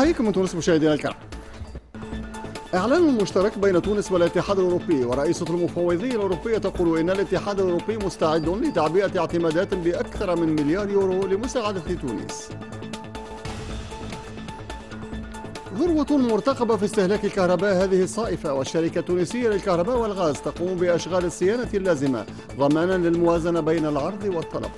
أحييكم من تونس مشاهدينا الكرام. إعلان مشترك بين تونس والاتحاد الأوروبي، ورئيسة المفوضية الأوروبية تقول إن الاتحاد الأوروبي مستعد لتعبئة اعتمادات بأكثر من مليار يورو لمساعدة تونس. ذروة مرتقبة في استهلاك الكهرباء هذه الصائفة، والشركة التونسية للكهرباء والغاز تقوم بأشغال الصيانة اللازمة ضمانا للموازنة بين العرض والطلب.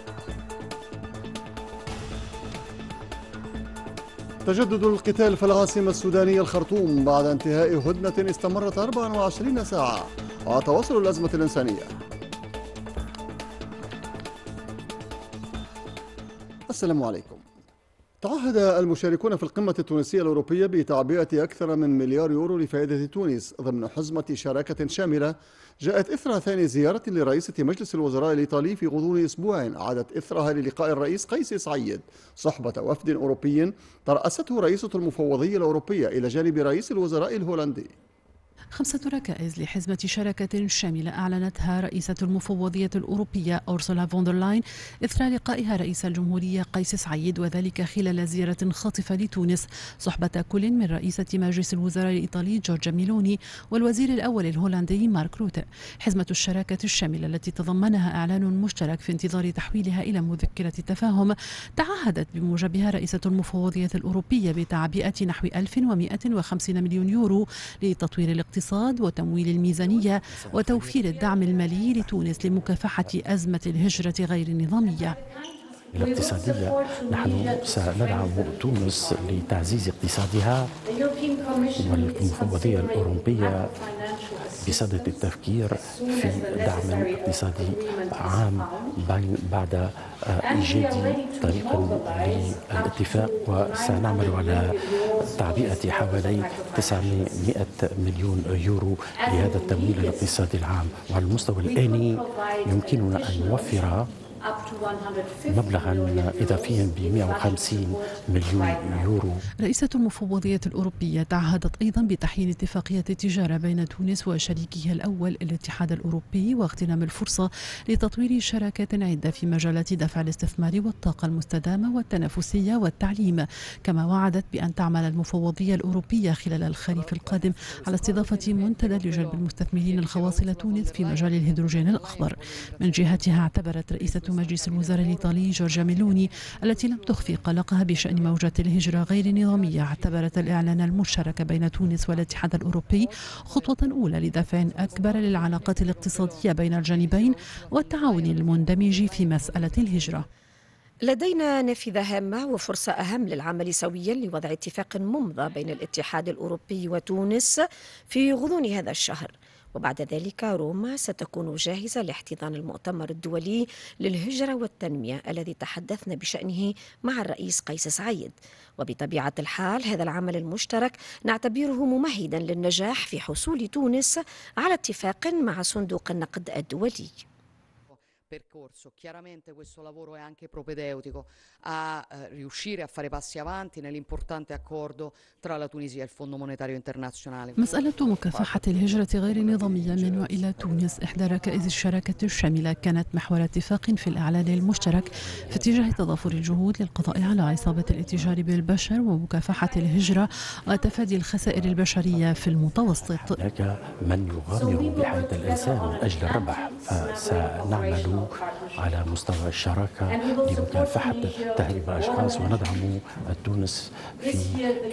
تجدد القتال في العاصمة السودانية الخرطوم بعد انتهاء هدنة استمرت 24 ساعة وتواصل الأزمة الإنسانية. السلام عليكم. تعهد المشاركون في القمة التونسية الأوروبية بتعبئة أكثر من مليار يورو لفائدة تونس ضمن حزمة شراكة شاملة جاءت إثر ثاني زيارة لرئيسة مجلس الوزراء الإيطالي في غضون أسبوع عادت إثرها للقاء الرئيس قيس سعيد صحبة وفد أوروبي ترأسته رئيسة المفوضية الأوروبية إلى جانب رئيس الوزراء الهولندي. 5 ركائز لحزمة شراكة شاملة أعلنتها رئيسة المفوضية الأوروبية أورسولا فون دير لاين إثر لقائها رئيس الجمهورية قيس سعيد، وذلك خلال زيارة خاطفة لتونس صحبة كل من رئيسة مجلس الوزراء الإيطالي جورجا ميلوني والوزير الأول الهولندي مارك روته. حزمة الشراكة الشاملة التي تضمنها إعلان مشترك في انتظار تحويلها إلى مذكرة تفاهم تعهدت بموجبها رئيسة المفوضية الأوروبية بتعبئة نحو 1150 مليون يورو لتطوير الاقتصاد وتمويل الميزانية وتوفير الدعم المالي لتونس لمكافحة أزمة الهجرة غير النظامية. الاقتصادية نحن سندعم تونس لتعزيز اقتصادها، والمفوضية الأوروبية بصدد التفكير في دعم اقتصادي عام بعد إيجاد طريق للاتفاق، وسنعمل على تعبئة حوالي 900 مليون يورو لهذا التمويل الاقتصادي العام. وعلى المستوى الآني يمكننا أن نوفر مبلغا إضافيا ب 150 مليون يورو. رئيسة المفوضية الأوروبية تعهدت أيضا بتحيين اتفاقية التجارة بين تونس وشريكها الأول الاتحاد الأوروبي واغتنام الفرصة لتطوير شراكات عدة في مجالات دفع الاستثمار والطاقة المستدامة والتنافسية والتعليم. كما وعدت بأن تعمل المفوضية الأوروبية خلال الخريف القادم على استضافة منتدى لجلب المستثمرين الخواص إلى تونس في مجال الهيدروجين الأخضر. من جهتها اعتبرت رئيسة مجلس الوزراء الإيطالي جورجا ميلوني التي لم تخفي قلقها بشأن موجة الهجرة غير النظامية اعتبرت الإعلان المشترك بين تونس والاتحاد الأوروبي خطوة أولى لدفع أكبر للعلاقات الاقتصادية بين الجانبين والتعاون المندمج في مسألة الهجرة. لدينا نافذة هامة وفرصة أهم للعمل سويا لوضع اتفاق ممضى بين الاتحاد الأوروبي وتونس في غضون هذا الشهر، وبعد ذلك روما ستكون جاهزة لاحتضان المؤتمر الدولي للهجرة والتنمية الذي تحدثنا بشأنه مع الرئيس قيس سعيد. وبطبيعة الحال هذا العمل المشترك نعتبره ممهدا للنجاح في حصول تونس على اتفاق مع صندوق النقد الدولي. Percorso. Chiaramente questo lavoro è anche propedeutico a riuscire a fare passi avanti nell'importante accordo tra la Tunisia e il Fondo Monetario Internazionale. مسألة مكافحة الهجرة غير النظامية من وإلى تونس إحدى ركائز الشراكة الشاملة كانت محور اتفاق في الإعلان المشترك في اتجاه تضافر الجهود للقضاء على عصابة الاتجار بالبشر ومكافحة الهجرة وتفادي الخسائر البشرية في المتوسط. هناك من يغامر بحياة الإنسان من أجل الربح، فسنعمل على مستوى الشراكة لمكافحة تهريب الأشخاص، وندعم تونس في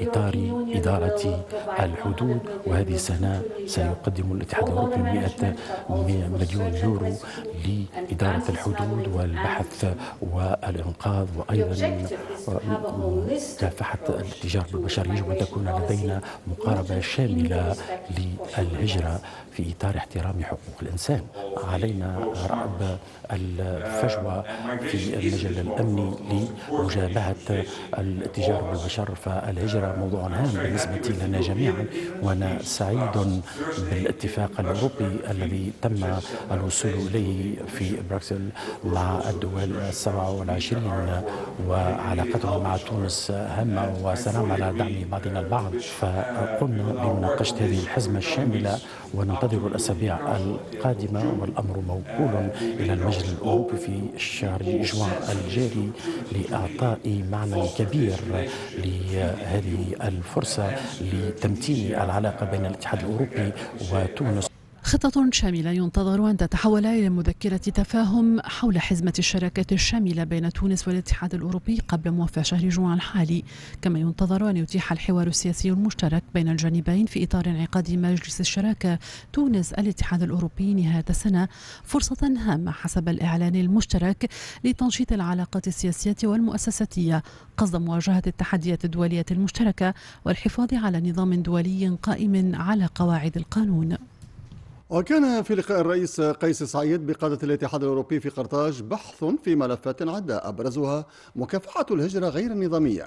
إطار إدارة الحدود. وهذه السنة سيقدم الاتحاد الأوروبي 100 مليون يورو لإدارة الحدود والبحث والإنقاذ، وأيضا مكافحة الاتجار بالبشر. يجب أن تكون لدينا مقاربة شاملة للهجرة في إطار احترام حقوق الإنسان. علينا رأب الفجوة في المجال الأمني لمجابهة الاتجار بالبشر، فالهجرة موضوع هام بالنسبة لنا جميعا، وأنا سعيد بالاتفاق الأوروبي الذي تم الوصول إليه في بروكسل مع الدول 27 وعلاقتنا شراكتنا مع تونس هامة وسنعمل على دعم بعضنا البعض. فقمنا بمناقشة هذه الحزمة الشاملة وننتظر الأسابيع القادمة، والأمر موكول إلى المجلس الأوروبي في شهر جوان الجاري لإعطاء معنى كبير لهذه الفرصة لتمتين العلاقة بين الاتحاد الأوروبي وتونس. خطة شاملة ينتظر أن تتحول إلى مذكرة تفاهم حول حزمة الشراكات الشاملة بين تونس والاتحاد الأوروبي قبل موافع شهر جوان الحالي، كما ينتظر أن يتيح الحوار السياسي المشترك بين الجانبين في إطار انعقاد مجلس الشراكة تونس الاتحاد الأوروبي نهاية السنة فرصة هامة حسب الإعلان المشترك لتنشيط العلاقات السياسية والمؤسساتية قصد مواجهة التحديات الدولية المشتركة والحفاظ على نظام دولي قائم على قواعد القانون. وكان في لقاء الرئيس قيس سعيد بقادة الاتحاد الأوروبي في قرطاج بحث في ملفات عدة أبرزها مكافحة الهجرة غير النظامية،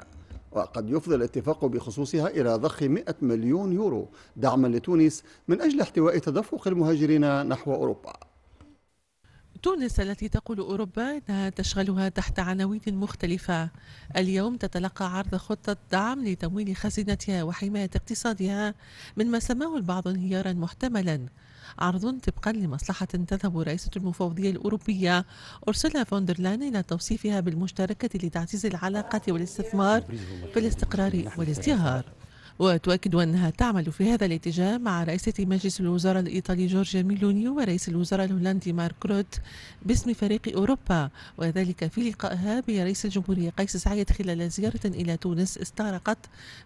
وقد يفضي الاتفاق بخصوصها إلى ضخ 100 مليون يورو دعما لتونس من أجل احتواء تدفق المهاجرين نحو أوروبا. تونس التي تقول أوروبا أنها تشغلها تحت عناوين مختلفة، اليوم تتلقى عرض خطة دعم لتمويل خزينتها وحماية اقتصادها من ما سماه البعض انهيارا محتملا. عرض طبقا لمصلحة تذهب رئيسة المفوضية الأوروبية أرسولا فون دير لاين إلى توصيفها بالمشتركة لتعزيز العلاقات والاستثمار في الاستقرار والازدهار. وتؤكد أنها تعمل في هذا الاتجاه مع رئيسة مجلس الوزراء الإيطالي جورجيا ميلوني ورئيس الوزراء الهولندي مارك روت باسم فريق أوروبا، وذلك في لقائها برئيس الجمهورية قيس سعيد خلال زيارة إلى تونس استغرقت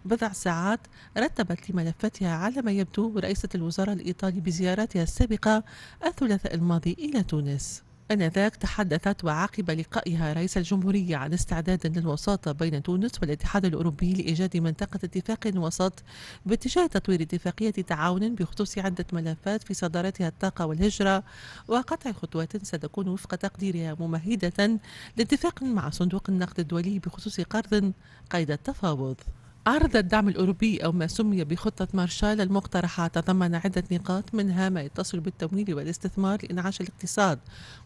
بضع ساعات رتبت لملفاتها على ما يبدو رئيسة الوزراء الإيطالي بزيارتها السابقة الثلاثاء الماضي إلى تونس. آنذاك تحدثت وعقب لقائها رئيس الجمهورية عن استعداد للوساطة بين تونس والاتحاد الأوروبي لإيجاد منطقة اتفاق وسط باتجاه تطوير اتفاقية تعاون بخصوص عدة ملفات في صدارتها الطاقة والهجرة، وقطع خطوات ستكون وفق تقديرها ممهدة لاتفاق مع صندوق النقد الدولي بخصوص قرض قيد التفاوض. عرض الدعم الأوروبي أو ما سمي بخطة مارشال المقترحة تضمن عدة نقاط، منها ما يتصل بالتمويل والاستثمار لإنعاش الاقتصاد،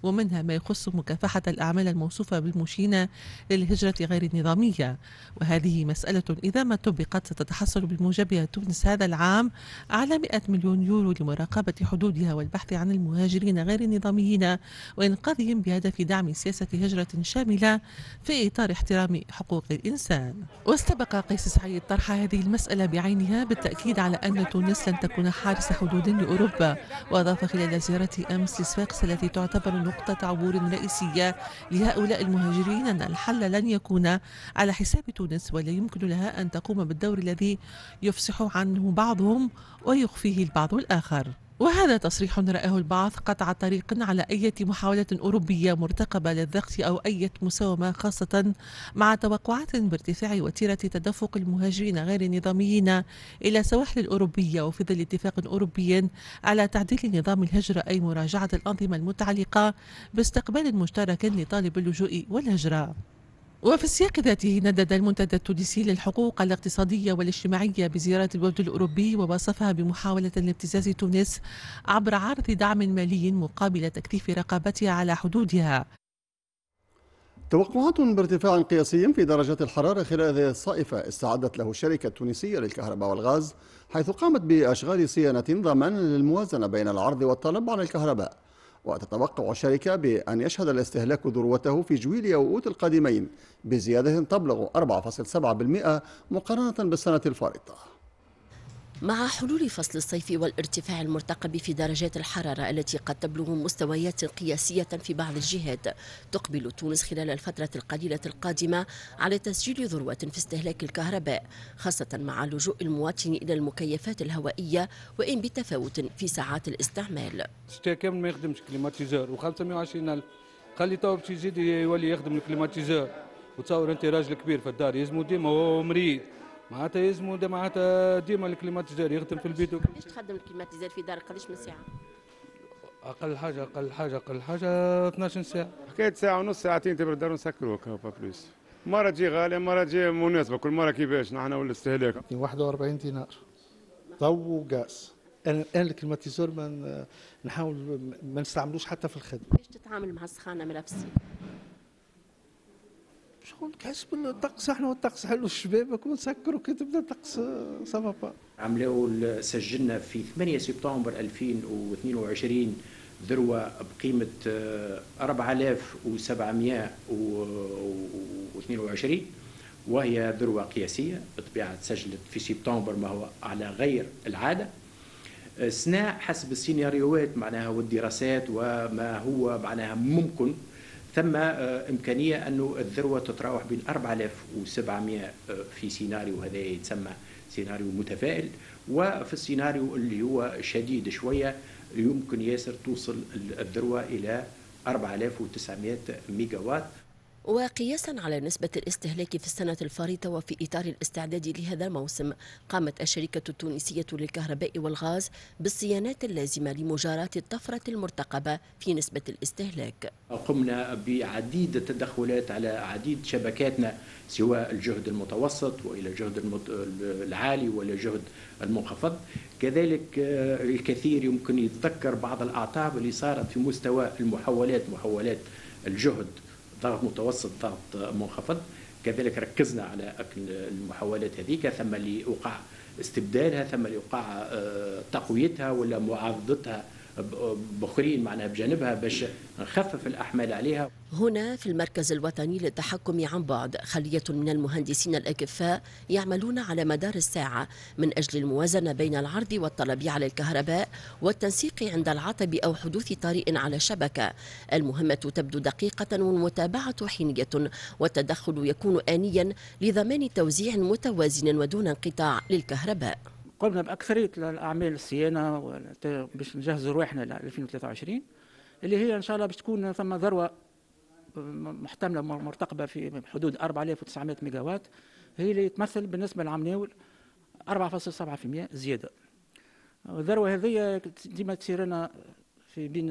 ومنها ما يخص مكافحة الأعمال الموصوفة بالمشينة للهجرة غير النظامية. وهذه مسألة إذا ما طبقت ستتحصل بموجبها تونس هذا العام على 100 مليون يورو لمراقبة حدودها والبحث عن المهاجرين غير النظاميين وإنقاذهم بهدف دعم سياسة هجرة شاملة في إطار احترام حقوق الإنسان. واستبق قيس سعيد طرح هذه المسألة بعينها بالتأكيد على أن تونس لن تكون حارس حدود لأوروبا. وأضاف خلال زيارته أمس لصفاقس التي تعتبر نقطة عبور رئيسية لهؤلاء المهاجرين أن الحل لن يكون على حساب تونس، ولا يمكن لها أن تقوم بالدور الذي يفصح عنه بعضهم ويخفيه البعض الآخر. وهذا تصريح رآه البعض قطع طريق على أي محاولة أوروبية مرتقبة للضغط أو أي مساومة، خاصة مع توقعات بارتفاع وتيرة تدفق المهاجرين غير النظاميين إلى سواحل الأوروبية، وفي ظل اتفاق أوروبي على تعديل نظام الهجرة أي مراجعة الأنظمة المتعلقة باستقبال مشترك لطالب اللجوء والهجرة. وفي السياق ذاته ندد المنتدى التونسي للحقوق الاقتصادية والاجتماعية بزيارة الوفد الأوروبي ووصفها بمحاولة لابتزاز تونس عبر عرض دعم مالي مقابل تكثيف رقابتها على حدودها. توقعات بارتفاع قياسي في درجات الحرارة خلال هذه الصائفة استعدت له الشركة التونسية للكهرباء والغاز، حيث قامت بأشغال صيانة ضمان للموازنة بين العرض والطلب على الكهرباء. وتتوقع الشركة بأن يشهد الاستهلاك ذروته في جويلية وأوت القادمين بزيادة تبلغ 4.7% مقارنة بالسنة الفارطة. مع حلول فصل الصيف والارتفاع المرتقب في درجات الحرارة التي قد تبلغ مستويات قياسية في بعض الجهات، تقبل تونس خلال الفترة القليلة القادمة على تسجيل ذروة في استهلاك الكهرباء، خاصة مع لجوء المواطن إلى المكيفات الهوائية وإن بتفاوت في ساعات الاستعمال. الشتاء كامل ما يخدمش climatiseur و520 ألف، خلي تو باش يزيد يولي يخدم ال climatiseur، وتصور أنت راجل كبير في الدار يلزمو ديما وهو مريض، معناتها يلزمو معناتها ديما ال climatiseur يخدم في البيت. قداش تخدم ال climatiseur في دارك؟ قداش من ساعة؟ أقل حاجة أقل حاجة أقل حاجة 12 ساعة. حكاية ساعة ونص ساعتين تبرد الدار ونسكروك pas plus. مرة تجي غالية مرة تجي مناسبة، كل مرة كيفاش نحن والاستهلاك. 41 دينار ضوء وغاز. أنا ال climatiseur ما نحاول ما نستعملوش حتى في الخدمة. كيفاش تتعامل مع السخانة ملا في الصيف؟ شغل حسب الطقس، احنا والطقس حلو الشبابك ونسكروا كي تبدا الطقس ça va pas. عملوا سجلنا في 8 سبتمبر 2022 ذروة بقيمة 4722، وهي ذروة قياسية بالطبيعة، تسجلت في سبتمبر ما هو على غير العادة. سنة حسب السيناريوهات معناها والدراسات وما هو معناها ممكن، ثم إمكانية أنه الذروة تتراوح بين 4700 في سيناريو هذا يتسمى سيناريو متفائل، وفي السيناريو اللي هو شديد شوية يمكن ياسر توصل الذروة إلى 4900 ميجاوات. وقياسا على نسبة الاستهلاك في السنة الفارطة وفي إطار الاستعداد لهذا الموسم، قامت الشركة التونسية للكهرباء والغاز بالصيانات اللازمة لمجاراة الطفرة المرتقبة في نسبة الاستهلاك. قمنا بعديد التدخلات على عديد شبكاتنا، سواء الجهد المتوسط وإلى الجهد العالي ولا الجهد المنخفض. كذلك الكثير يمكن يتذكر بعض الأعطاب اللي صارت في مستوى المحولات، محولات الجهد ضغط متوسط ضغط منخفض، كذلك ركزنا على المحاولات هذيك، ثم اللي وقع استبدالها، ثم اللي وقع تقويتها ولا معارضتها بأخرين معناها بجانبها باش نخفف الأحمال عليها. هنا في المركز الوطني للتحكم عن بعد خلية من المهندسين الأكفاء يعملون على مدار الساعة من أجل الموازنة بين العرض والطلب على الكهرباء والتنسيق عند العطب أو حدوث طارئ على الشبكة. المهمة تبدو دقيقة والمتابعة حينية، والتدخل يكون آنيا لضمان توزيع متوازن ودون انقطاع للكهرباء. قمنا بأكثرية الأعمال الصيانة باش نجهزوا رواحنا ل 2023 اللي هي إن شاء الله باش تكون ثم ذروة محتملة مرتقبة في حدود 4900 ميجاوات، هي اللي تمثل بالنسبة للعام الأول 4.7% زيادة. الذروة هذه ديما تصير لنا في بين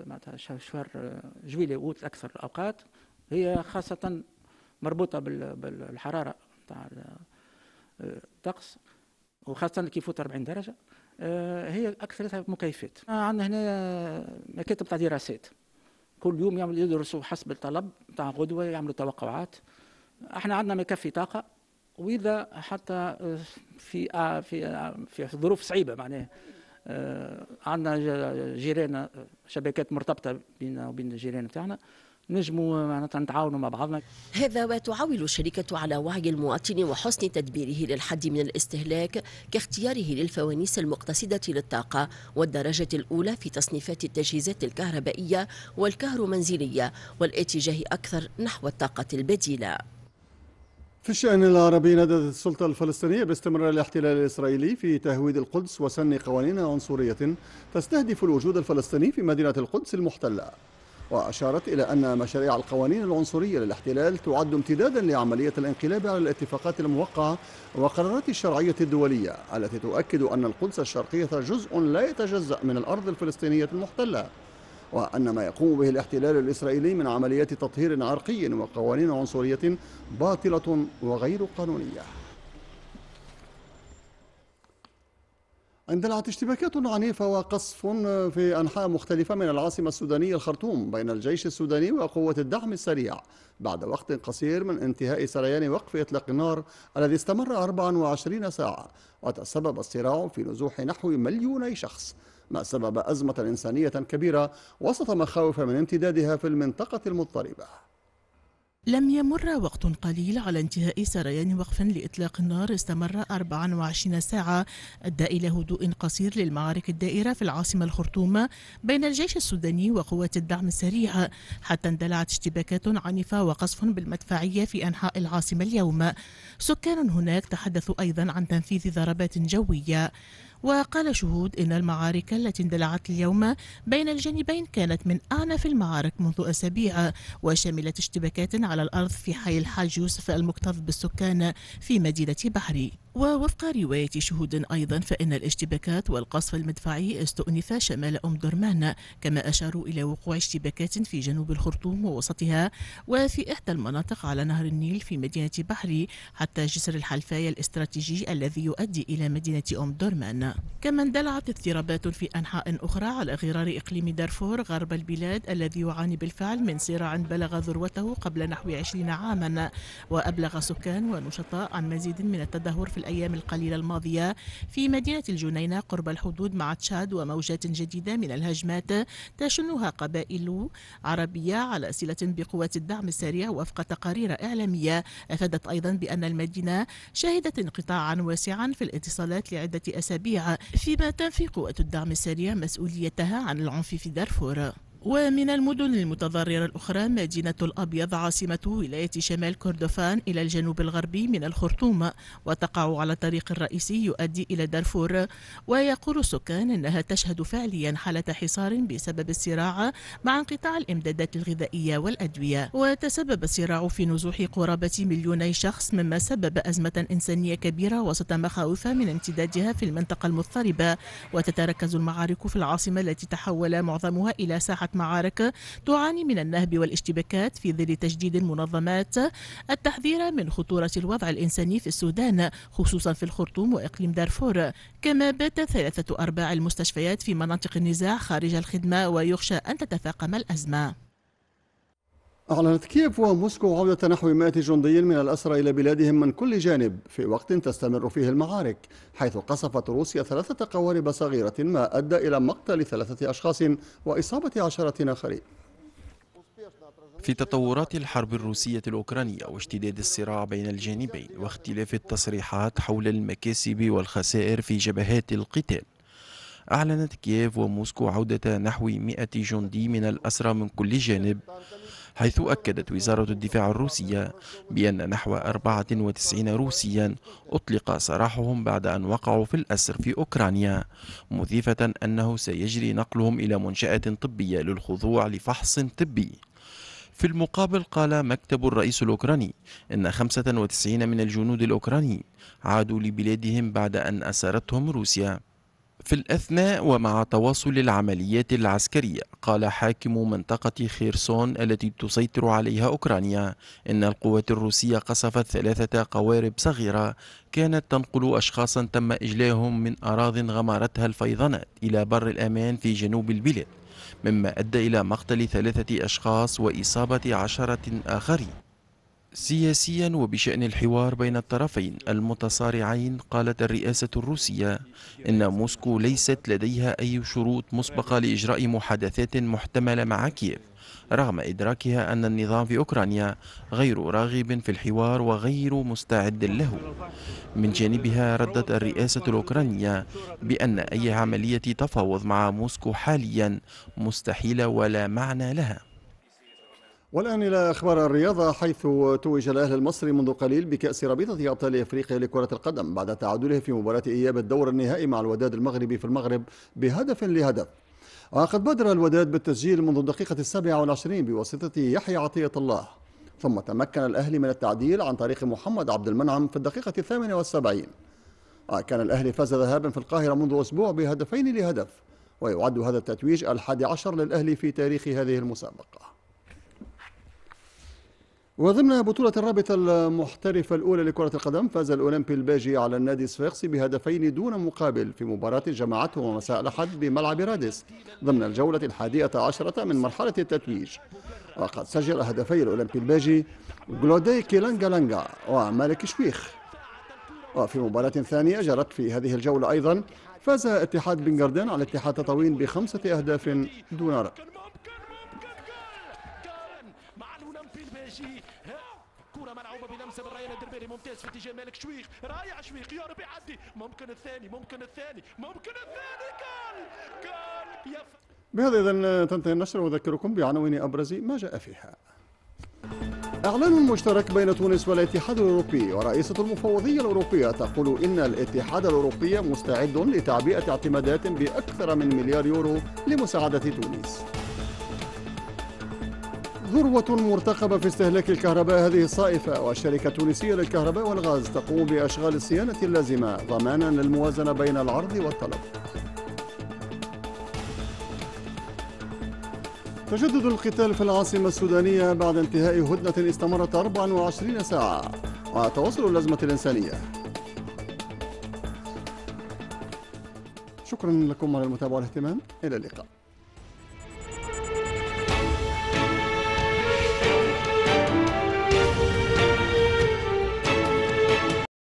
معناتها شهر جويلية وأوت أكثر الأوقات، هي خاصة مربوطة بالحرارة تاع الطقس وخاصة كي يفوت 40 درجة، هي أكثرتها مكيفات. عندنا هنا مكاتب تاع دراسات كل يوم يعملوا يدرسوا حسب الطلب تاع غدوة، يعملوا توقعات. احنا عندنا ما يكفي طاقة، وإذا حتى في في في ظروف صعيبة معناها عندنا جيران شبكات مرتبطة بيننا وبين الجيران بتاعنا، نجموا معناتها نتعاونوا مع بعضنا. هذا وتعول الشركة على وعي المواطن وحسن تدبيره للحد من الاستهلاك كاختياره للفوانيس المقتصدة للطاقة والدرجة الأولى في تصنيفات التجهيزات الكهربائية والكهرومنزلية والاتجاه أكثر نحو الطاقة البديلة. في الشأن العربي، نددت السلطة الفلسطينية باستمرار الاحتلال الإسرائيلي في تهويد القدس وسن قوانين عنصرية تستهدف الوجود الفلسطيني في مدينة القدس المحتلة. وأشارت إلى أن مشاريع القوانين العنصرية للاحتلال تعد امتدادا لعملية الانقلاب على الاتفاقات الموقعة وقرارات الشرعية الدولية التي تؤكد أن القدس الشرقية جزء لا يتجزأ من الأرض الفلسطينية المحتلة، وأن ما يقوم به الاحتلال الإسرائيلي من عمليات تطهير عرقي وقوانين عنصرية باطلة وغير قانونية. اندلعت اشتباكات عنيفة وقصف في أنحاء مختلفة من العاصمة السودانية الخرطوم بين الجيش السوداني وقوة الدعم السريع بعد وقت قصير من انتهاء سريان وقف إطلاق النار الذي استمر 24 ساعة، وتسبب الصراع في نزوح نحو 2 مليون شخص، ما سبب أزمة إنسانية كبيرة وسط مخاوف من امتدادها في المنطقة المضطربة. لم يمر وقت قليل على انتهاء سريان وقف لإطلاق النار استمر 24 ساعة أدى إلى هدوء قصير للمعارك الدائرة في العاصمة الخرطوم بين الجيش السوداني وقوات الدعم السريع، حتى اندلعت اشتباكات عنيفة وقصف بالمدفعية في أنحاء العاصمة اليوم. سكان هناك تحدثوا أيضا عن تنفيذ ضربات جوية. وقال شهود إن المعارك التي اندلعت اليوم بين الجانبين كانت من أعنف المعارك منذ أسابيع، وشملت اشتباكات على الأرض في حي الحاج يوسف المكتظ بالسكان في مدينة بحري. ووفق رواية شهود أيضا فإن الاشتباكات والقصف المدفعي استؤنف شمال أم درمان، كما أشاروا إلى وقوع اشتباكات في جنوب الخرطوم ووسطها وفي إحدى المناطق على نهر النيل في مدينة بحري حتى جسر الحلفاية الاستراتيجي الذي يؤدي إلى مدينة أم درمان. كما اندلعت اضطرابات في أنحاء أخرى على غرار إقليم دارفور غرب البلاد الذي يعاني بالفعل من صراع بلغ ذروته قبل نحو 20 عاما. وأبلغ سكان ونشطاء عن مزيد من التدهور في الأيام القليلة الماضية في مدينة الجنينة قرب الحدود مع تشاد، وموجات جديدة من الهجمات تشنها قبائل عربية على صلة بقوات الدعم السريع وفق تقارير إعلامية. أفادت أيضا بأن المدينة شهدت انقطاعا واسعا في الاتصالات لعدة أسابيع، فيما تنفي قوات الدعم السريع مسؤوليتها عن العنف في دارفور. ومن المدن المتضررة الأخرى مدينة الأبيض عاصمة ولاية شمال كردفان إلى الجنوب الغربي من الخرطوم، وتقع على الطريق الرئيسي يؤدي إلى دارفور. ويقول السكان إنها تشهد فعليا حالة حصار بسبب الصراع مع انقطاع الإمدادات الغذائية والأدوية. وتسبب الصراع في نزوح قرابة 2 مليون شخص، مما سبب أزمة إنسانية كبيرة وسط مخاوف من امتدادها في المنطقة المضطربة. وتتركز المعارك في العاصمة التي تحول معظمها إلى ساحة معارك تعاني من النهب والاشتباكات، في ظل تجديد المنظمات التحذير من خطورة الوضع الإنساني في السودان، خصوصا في الخرطوم وإقليم دارفور. كما بات 3/4 المستشفيات في مناطق النزاع خارج الخدمة، ويخشى أن تتفاقم الأزمة. أعلنت كييف وموسكو عودة نحو 100 جندي من الأسرى إلى بلادهم من كل جانب في وقت تستمر فيه المعارك، حيث قصفت روسيا 3 قوارب صغيرة ما أدى إلى مقتل 3 أشخاص وإصابة 10 آخرين. في تطورات الحرب الروسية الأوكرانية واشتداد الصراع بين الجانبين واختلاف التصريحات حول المكاسب والخسائر في جبهات القتال، أعلنت كييف وموسكو عودة نحو 100 جندي من الأسرى من كل جانب، حيث أكدت وزارة الدفاع الروسية بأن نحو 94 روسيا أطلق سراحهم بعد أن وقعوا في الأسر في أوكرانيا، مضيفة أنه سيجري نقلهم إلى منشأة طبية للخضوع لفحص طبي. في المقابل قال مكتب الرئيس الأوكراني إن 95 من الجنود الأوكرانيين عادوا لبلادهم بعد أن أسرتهم روسيا. في الأثناء ومع تواصل العمليات العسكرية، قال حاكم منطقة خيرسون التي تسيطر عليها أوكرانيا إن القوات الروسية قصفت 3 قوارب صغيرة كانت تنقل أشخاصا تم إجلاهم من أراض غمرتها الفيضانات إلى بر الأمان في جنوب البلاد، مما أدى إلى مقتل 3 أشخاص وإصابة 10 آخرين. سياسيا وبشأن الحوار بين الطرفين المتصارعين، قالت الرئاسة الروسية إن موسكو ليست لديها أي شروط مسبقة لإجراء محادثات محتملة مع كييف، رغم إدراكها أن النظام في أوكرانيا غير راغب في الحوار وغير مستعد له. من جانبها ردت الرئاسة الأوكرانية بأن أي عملية تفاوض مع موسكو حاليا مستحيلة ولا معنى لها. والآن إلى أخبار الرياضة، حيث توج الأهلي المصري منذ قليل بكأس رابطة أبطال أفريقيا لكرة القدم بعد تعادله في مباراة إياب الدور النهائي مع الوداد المغربي في المغرب بهدف لهدف. وقد بادر الوداد بالتسجيل منذ الدقيقة 27 بواسطة يحيى عطية الله، ثم تمكن الأهلي من التعديل عن طريق محمد عبد المنعم في الدقيقة 78. كان الأهلي فاز ذهابا في القاهرة منذ أسبوع بهدفين لهدف، ويعد هذا التتويج 11 للأهلي في تاريخ هذه المسابقة. وضمن بطولة الرابطة المحترفة الأولى لكرة القدم، فاز الأولمبي الباجي على النادي الصفاقسي بهدفين دون مقابل في مباراة جمعتهما مساء الأحد بملعب رادس ضمن الجولة 11 من مرحلة التتويج. وقد سجل هدفي الأولمبي الباجي جلودي كيلانجا لانجا ومالك شويخ. وفي مباراة ثانية جرت في هذه الجولة أيضا، فاز اتحاد بن على اتحاد تطاوين ب5 أهداف دون رد. ممتاز في اتجاه مالك شويخ، رايع شويخ، يا رب يعدي، ممكن الثاني، ممكن الثاني، ممكن الثاني، جول جول يا. بهذا إذن تنتهي النشرة، وأذكركم بعناوين أبرز ما جاء فيها. إعلان مشترك بين تونس والاتحاد الأوروبي، ورئيسة المفوضية الأوروبية تقول إن الاتحاد الأوروبي مستعد لتعبئة اعتمادات بأكثر من مليار يورو لمساعدة تونس. ذروة مرتقبة في استهلاك الكهرباء هذه الصائفة، والشركة التونسية للكهرباء والغاز تقوم بأشغال الصيانة اللازمة ضمانا للموازنة بين العرض والطلب. تجدد القتال في العاصمة السودانية بعد انتهاء هدنة استمرت 24 ساعة وتواصل الأزمة الإنسانية. شكرا لكم على المتابعة والاهتمام، إلى اللقاء.